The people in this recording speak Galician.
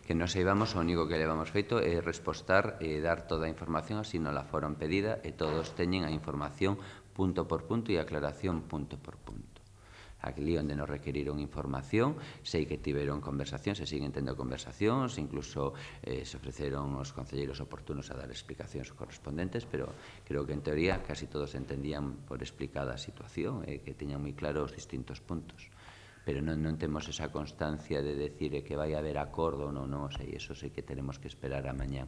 Que nos saibamos, o único que levamos feito é respostar e dar toda a información así non la foron pedida e todos teñen a información punto por punto e aclaración punto por punto. Aquí onde nos requeriron información, sei que tiveron conversacións, se siguen tendo conversacións, incluso se ofreceron os concelleiros oportunos a dar explicacións correspondentes, pero creo que en teoría casi todos entendían por explicada a situación e que teñan moi claros os distintos puntos. Pero non temos esa constancia de decir que vai haber acordo ou non, non sei, eso sei que tenemos que esperar a mañá.